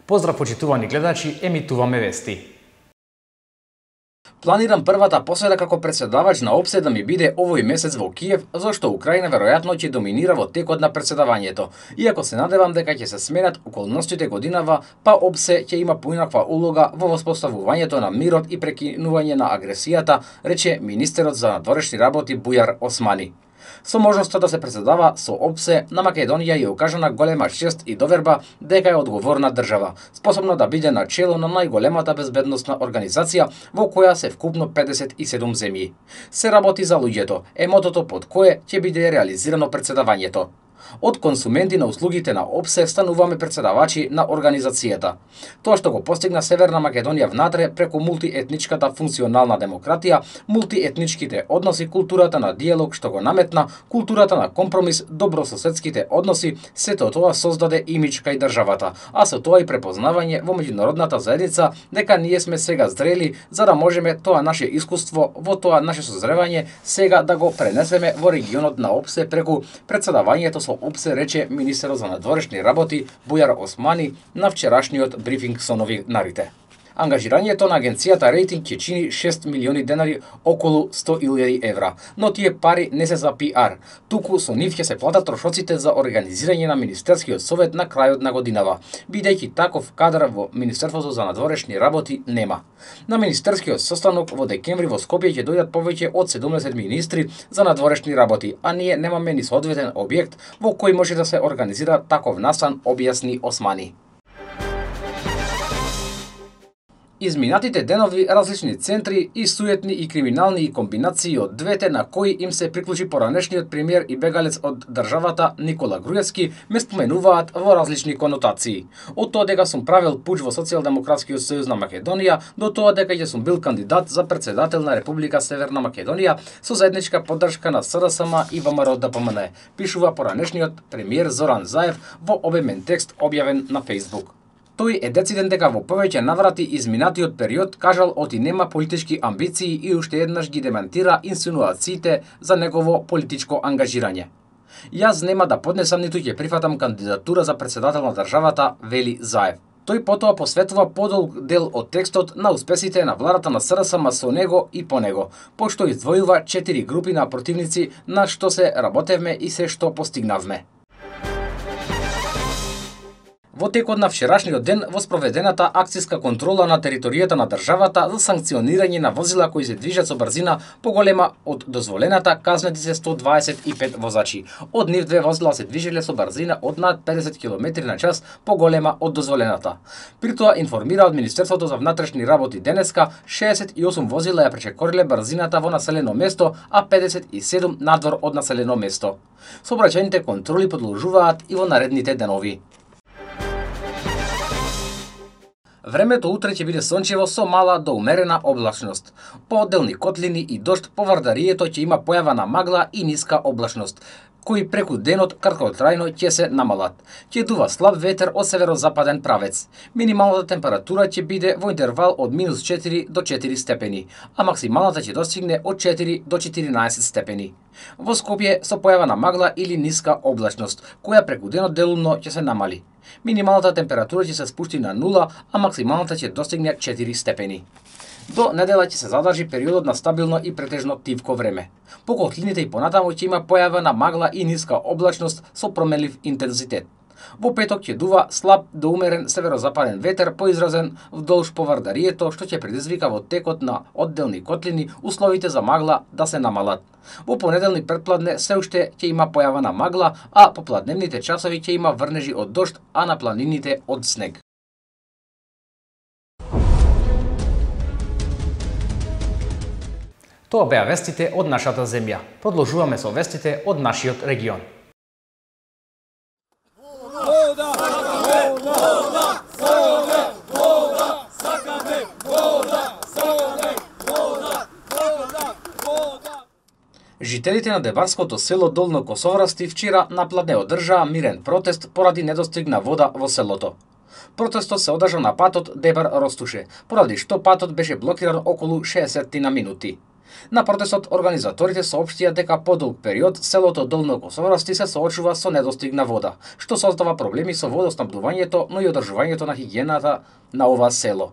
Поздрав почитувани гледачи, емитуваме вести. Планирам првата посета како претседавач на ОПСЕ да ми биде овој месец во Киев, зашто Украина веројатно ќе доминира во текот на претседавањето. Иако се надевам дека ќе се сменат околностите годинава, па ОПСЕ ќе има поинаква улога во воспоставувањето на мирот и прекинување на агресијата, рече министерот за надворешни работи Бујар Османи. Со можноста да се претседава со ОПСЕ, на Македонија ја укажана голема чест и доверба дека е одговорна држава, способна да биде на чело на најголемата безбедносна организација во која се вкупно 57 земји. Се работи за луѓето, е мотото под кое ќе биде реализирано претседавањето. Од консументи на услугите на ОПСЕ стануваме претседавачи на организацијата. Тоа што го постигна Северна Македонија внатре преку мултиетничката функционална демократија, мултиетничките односи, културата на диалог што го наметна, културата на компромис, добрососедските односи, сето тоа создаде имидж кај државата, а со тоа и препознавање во меѓународната заедница дека ние сме сега зрели за да можеме тоа наше искуство во тоа наше созревање сега да го пренесеме во регионот на ОПСЕ преку претседавањето со ОПСЕ, рече министерот за надворешни работи Бујар Османи на вчерашниот брифинг со новинарите. Ангажирањето на агенцијата рейтинг ќе чини 6 милиони денари, околу 100.000 евра, но тие пари не се за пиар, туку со нив ќе се платат трошоците за организирање на Министерскиот совет на крајот на годинава, бидејќи таков кадар во Министерството за надворешни работи нема. На Министерскиот состанок во декември во Скопје ќе дојдат повеќе од 70 министри за надворешни работи, а ние немаме ни соодветен објект во кој може да се организира таков настан, објасни Османи. Изминатите денови различни центри и суетни и криминални и комбинации од двете на кои им се приклучи поранешниот премиер и бегалец од државата Никола Груевски ме споменуваат во различни конотации. Од тоа дека сум правел пуч во Социјалдемократскиот сојуз на Македонија до тоа дека ќе сум бил кандидат за претседател на Република Северна Македонија со заедничка поддршка на СДСМ и ВМРО-ДПМН, пишува поранешниот премиер Зоран Заев во обемен текст објавен на Facebook. Тој е дециден дека во повеќе наврати изминатиот период кажал оти нема политички амбиции и уште еднаш ги демантира инсинуациите за негово политичко ангажирање. Јас нема да поднесам ниту ќе прифатам кандидатура за претседател на државата, вели Заев. Тој потоа посветува подолг дел од текстот на успесите на владата на СДСМ со него и по него, пошто издвојува 4 групи на противници на што се работевме и се што постигнавме. Во текот на вчерашниот ден во спроведената акцијска контрола на територијата на државата за санкционирање на возила кои се движат со брзина поголема од дозволената, казнети се 125 возачи. Од нив 2 возила се движеле со брзина од над 50 км на час поголема од дозволената. При тоа информира од Министерството за внатрешни работи денеска 68 возила ја пречекориле брзината во населено место, а 57 надвор од населено место. Сообраќајните контроли продолжуваат и во наредните денови. Времето утре ќе биде сончево со мала до умерена облачност. По одделни котлини и дожд по Вардарието ќе има појава на магла и ниска облачност, кои преку денот краткотрајно ќе се намалат. Ќе дува слаб ветер од северозападен правец. Минималната температура ќе биде во интервал од -4 до 4 степени, а максималната ќе достигне од 4 до 14 степени. Во Скопје со појава на магла или ниска облачност, која преку денот делумно ќе се намали. Минималната температура ќе се спушти на 0, а максималната ќе достигне 4 степени. До недела ќе се задржи периодот на стабилно и претежно тивко време. По котлините и понатаму ќе има појава на магла и ниска облачност со променлив интензитет. Во петок ќе дува слаб до умерен северозападен ветер поизразен вдолж по Вардарието, што ќе предизвика во текот на одделни котлини условите за магла да се намалат. Во понеделник предпладне се уште ќе има појава на магла, а по пладневните часови ќе има врнежи од дожд, а на планините од снег. Тоа беа вестите од нашата земја. Продолжуваме со вестите од нашиот регион. Жителите на деварското село Долно Косоврасти вчера напладне одржаа мирен протест поради недостиг на вода во селото. Протестот се одржа на патот Дебар-Ростуше, поради што патот беше блокиран околу 60 минути. На протестот организаторите соопштија дека подолг период селото Долно Косоврасти се соочува со недостигна вода, што создава проблеми со водоснабдувањето, но и одржувањето на хигиената на ова село.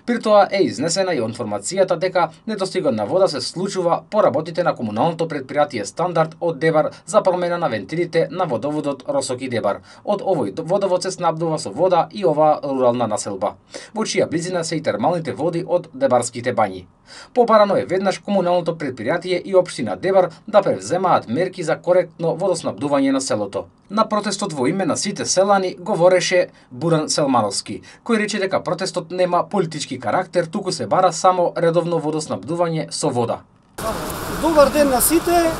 При тоа е изнесена и информацијата дека недостигот на вода се случува по работите на комуналното предпријатие Стандард од Дебар за промена на вентилите на водоводот Росоки Дебар. Од овој водовод се снабдува со вода и оваа рурална населба, во чија близина се и термалните води од Дебарските бањи. Побарано е веднаш комуналното предпријатие и општина Дебар да превземаат мерки за коректно водоснабдување на селото. На протестот во име на сите селани говореше Буран Селмановски, кој рече дека протестот нема политички карактер, туку се бара само редовно водоснабдување со вода. Добар ден на сите.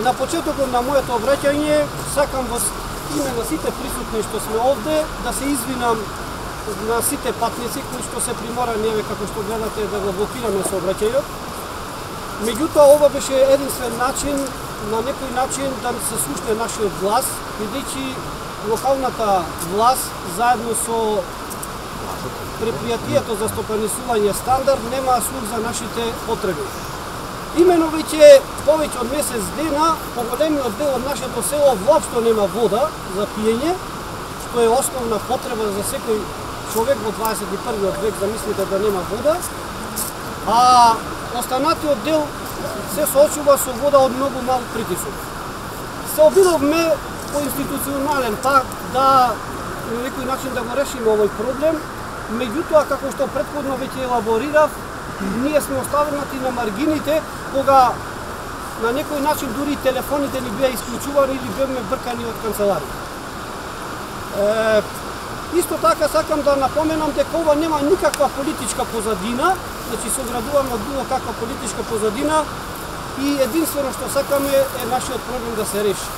На почетокот на моето обраќање сакам во име на сите присутни што сме овде да се извинам на сите патници кои што се приморани, како што гледате, да го блокираме сообраќајот. Меѓутоа, ова беше единствен начин, на некој начин да се слушне нашиот глас, бидејќи локалната власт заедно со предпријатието за стопанисување Стандард нема слух за нашите потреби. Имено веќе повеќе од месец дена поголемиот дел од нашето село воопшто нема вода за пиење, што е основна потреба за секој човек во 21 век, замислите да нема вода, а останатиот дел се соочува со вода од многу мал притисок. Се обидовме по институционален пат да на некој начин да го решиме овој проблем, меѓутоа, како што претходно веќе елаборирав, ние сме оставени на маргините, кога на некој начин дури телефоните ни беа исклучувани или бевме бркани од канцеларија. Исто така сакам да напоменам дека ова нема никаква политичка позадина, значи се оградуваме од било каква политичка позадина и единствено што сакаме е нашиот проблем да се реши.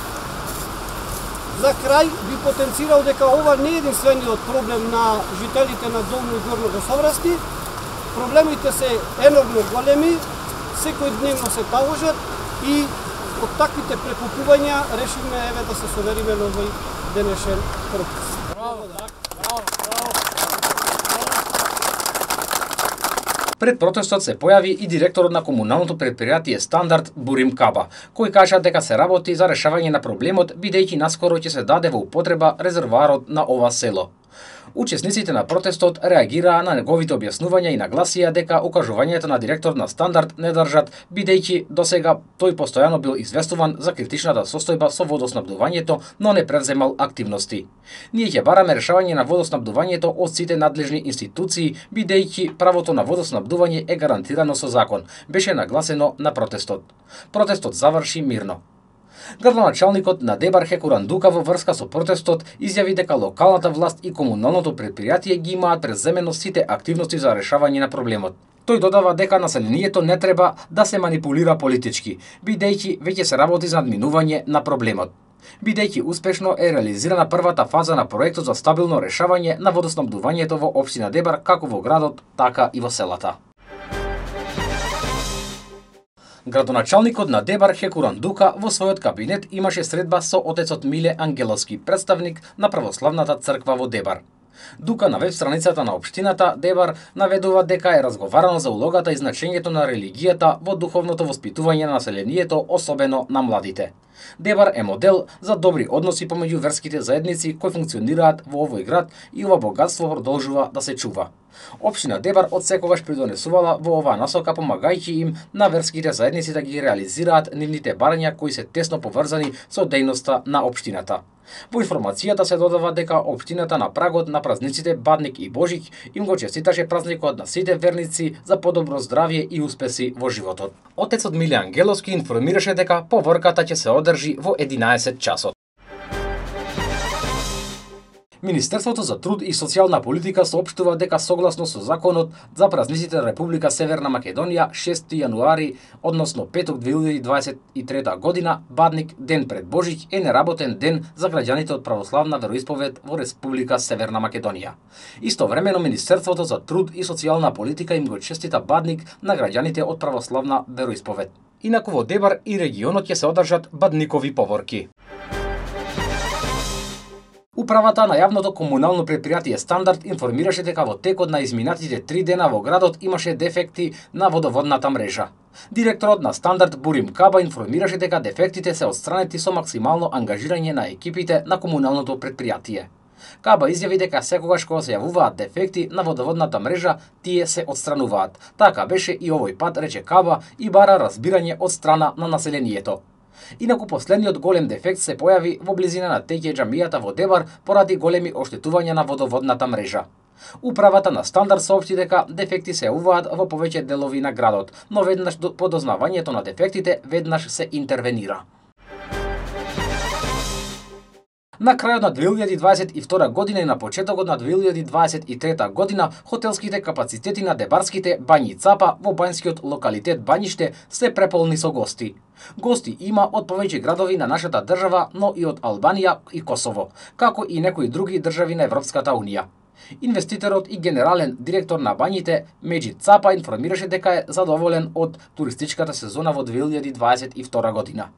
За крај би потенцирал дека ова не е единствениот проблем на жителите на Долно и Горно Косоврасти. Проблемите се енормно големи, секојдневно се таложат и од таквите прекупувања решивме да се совериме на овој денешен протест. Пред протестот се појави и директорот на комуналното предпријатие Стандард Бурим Каба, кој кажа дека се работи за решавање на проблемот, бидејќи наскоро ќе се даде во употреба резервоарот на ова село. Учесниците на протестот реагираа на неговите објаснувања и нагласија дека укажувањето на директорот на Стандард не држат, бидејќи досега тој постојано бил известуван за критичната состојба со водоснабдувањето, но не превземал активности. Ние ќе бараме решавање на водоснабдувањето од сите надлежни институции, бидејќи правото на водоснабдување е гарантирано со закон, беше нагласено на протестот. Протестот заврши мирно. Градоначалникот на Дебар Хекуран Дука во врска со протестот изјави дека локалната власт и комуналното предпријатие ги имаат преземено сите активности за решавање на проблемот. Тој додава дека населението не треба да се манипулира политички, бидејќи веќе се работи за надминување на проблемот. Бидејќи успешно е реализирана првата фаза на проектот за стабилно решавање на водоснабдувањето во општина Дебар, како во градот, така и во селата. Градоначалникот на Дебар Хекуран Дука во својот кабинет имаше средба со отецот Миле Ангеловски, представник на православната црква во Дебар. Дука на веб страницата на општината Дебар наведува дека е разговарано за улогата и значењето на религијата во духовното воспитување на населението, особено на младите. Дебар е модел за добри односи помеѓу верските заедници кои функционираат во овој град и ова богатство продолжува да се чува. Општина Дебар одсекогаш придонесувала во оваа насока, помагајќи им на верските заедници да ги реализираат нивните барања кои се тесно поврзани со дејноста на општината. Во информацијата се додава дека општината на прагот на празниците Бадник и Божик им го честиташе празникот на сите верници за подобро здравје и успеси во животот. Отецот Миле Ангеловски информираше дека поворката ќе се одржи во 11 часот. Министерството за труд и социјална политика соопштува дека согласно со законот за празниците на Република Северна Македонија 6 јануари, односно петок 2023 година, Бадник, ден пред Божик, е неработен ден за граѓаните од православна вероисповед во Република Северна Македонија. Истовремено Министерството за труд и социјална политика им го честита Бадник на граѓаните од православна вероисповед. Инаку во Дебар и регионот ќе се одржат Бадникови поворки. Управата на јавното комунално претпријатие Стандард информираше дека во текот на изминатите 3 дена во градот имаше дефекти на водоводната мрежа. Директорот на Стандард Бурим Каба информираше дека дефектите се отстранети со максимално ангажирање на екипите на комуналното претпријатие. Каба изјави дека секогаш кога се јавуваат дефекти на водоводната мрежа, тие се отстрануваат. Така беше и овој пат, рече Каба, и бара разбирање од страна на населението. Инаку последниот голем дефект се појави во близина на Теќе џамијата во Дебар поради големи оштетувања на водоводната мрежа. Управата на Стандард соопшти дека дефекти се јавуваат во повеќе делови на градот, но веднаш по дознавањето на дефектите веднаш се интервенира. На крајот на 2022 година и на почетокот на 2023 година, хотелските капацитети на дебарските бањи Цапа во бањскиот локалитет Бањиште се преполни со гости. Гости има од повеќе градови на нашата држава, но и од Албанија и Косово, како и некои други држави на Европската Унија. Инвеститорот и генерален директор на бањите Меджид Цапа информираше дека е задоволен од туристичката сезона во 2022 година.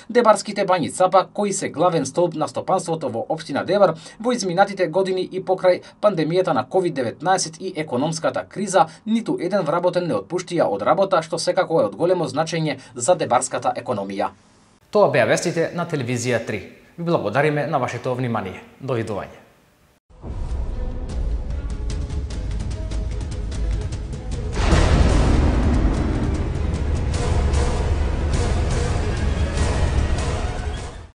Дебарските бањи Цапа, кои се главен столб на стопанството во општина Дебар, во изминатите години и покрај пандемијата на COVID-19 и економската криза, ниту еден вработен не отпуштија од работа, што секако е од големо значење за дебарската економија. Тоа беа вестите на телевизија 3. Ви благодариме на вашето внимание. Довидување.